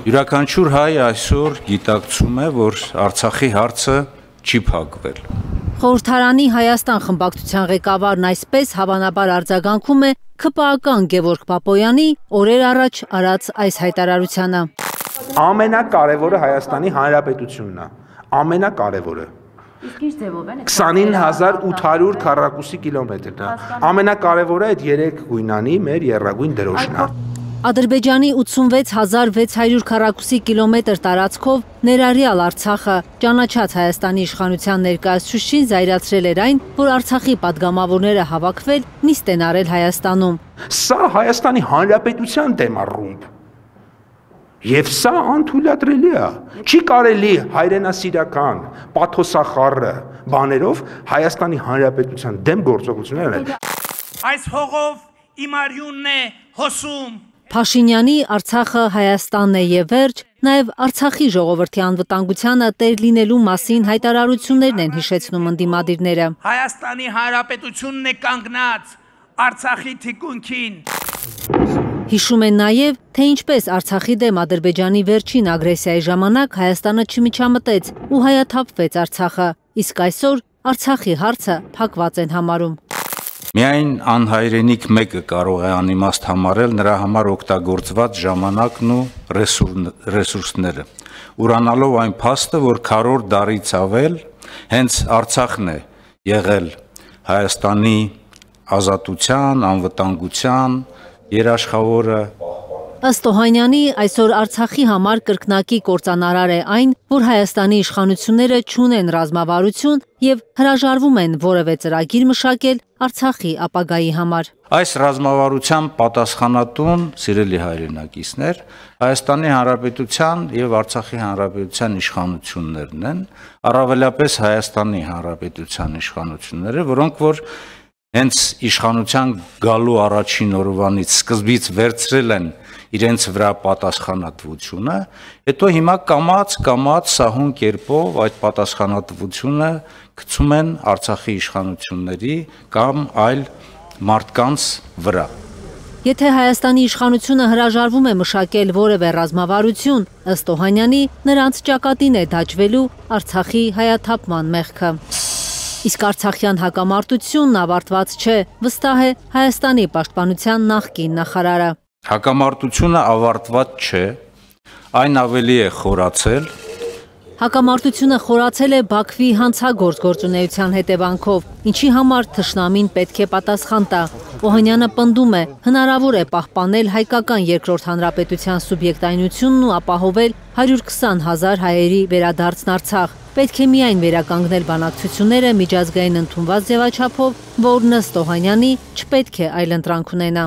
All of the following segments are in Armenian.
Յուրաքանչյուր հայ այսօր գիտակցում է, որ Արցախի հարցը չի փակվել։ Խորհրդարանի Հայաստան խմբակցության ղեկավարն այսպես հավանաբար արձագանքում է ՔՊԱ-ական Գևորգ Բաբոյանի օրեր առաջ արած այս հայտարարությանը։ Ամենակարևորը Հայաստանի Հանրապետությունն է, ամենակարևորը։ 29800 քառակուսի կիլոմետրն է։ Ամենակարևորը այդ 3 գույնանի մեր եռագույն դրոշն է։ Ադրբեջանի 86600 քառակուսի կիլոմետր տարածքով ներառյալ Արցախը ճանաչած Հայաստանի իշխանության ներկայացուցիչին զայրացրել էր այն, որ Արցախի падգամավորները հավաքվել նիստ են արել Հայաստանում։ Սա Հայաստանի Հանրապետության դեմ է ռումբ։ Եվ սա անթույլատրելի է։ Չի կարելի հայրենասիրական, պաթոսախառը բաներով Հայաստանի Հանրապետության դեմ գործողություններ անել։ Այս հողով իմ արյունն է հոսում։ Փաշինյանի Արցախը Հայաստանն է եւ վերջ, նաեւ Արցախի ժողովրդի անվտանգությանը տեր լինելու մասին հայտարարություններն են հիշեցնում ընդդիմադիրները։ Հայաստանի Հանրապետությունն է կանգնած Արցախի թիկունքին։ Հիշում են նաև, թե ինչպես Արցախի դեմ Ադրբեջանի վերջին ագրեսիայի ժամանակ Հայաստանը չմիջամտեց ու հայաթափվեց Արցախը, իսկ այսօր Արցախի հարցը փակված են համարում։ Միայն անհայրենիք մեկը կարող է անիմաստ համարել նրա համար օգտագործված ժամանակն ու ռեսուրսները, ուրանալով այն փաստը, որ քառորդ դարից ավել հենց Արցախն է եղել Հայաստանի ազատության, անվտանգության երաշխավորը։ Ըստ Օհանյանի, այսօր Արցախի համար կրկնակի կործանարար է այն, որ Հայաստանի իշխանությունները չունեն ռազմավարություն եւ հրաժարվում են որևէ ծրագիր մշակել Արցախի ապագայի համար։ Այս ռազմավարության պատասխանատուն, սիրելի հայրենակիցներ, Հայաստանի Հանրապետության եւ Արցախի Հանրապետության իշխանություններն են, առավելապես Հայաստանի Հանրապետության իշխանությունները, որոնք որ հենց իշխանության գալու առաջին օրվանից սկզբից վերցրել են իրենց վրա պատասխանատվությունը, հետո հիմա կամաց սահուն կերպով այդ պատասխանատվությունը գցում են Արցախի իշխանությունների կամ այլ մարդկանց վրա։ Եթե Հայաստանի իշխանությունը հրաժարվում է մշակել որևէ ռազմավարություն, ըստ Օհանյանի, նրանց ճակատին է դաջվելու Արցախի հայաթափման մեղքը։ Իսկ արցախյան հակամարտությունն ավարտված չէ, վստահ է Հայաստանի պաշտպանության նախկին նախարարը։ Հակամարտությունը ավարտված չէ, այն ավելի է խորացել։ Հակամարտությունը խորացել է Բաքվի հանցագործ գործունեության հետևանքով, ինչի համար թշնամին պետք է պատասխան տա։ Օհանյանը պնդում է, հնարավոր է պահպանել հայկական երկրորդ հանրապետության սուբյեկտայնությունն ու ապահովել 120,000 հայերի վերադարձն Արցախ։ Պետք է միայն վերականգնել բանակցությունները միջազգային ընդունված ձևաչափով, որն ըստ Օհանյանի չպետք է այլընտրանք ունենա։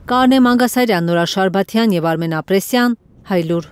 Կարնե Մանգասարյան, Նորա Շարբաթյան եւ Արմեն Ապրեսյան, Հայլուր։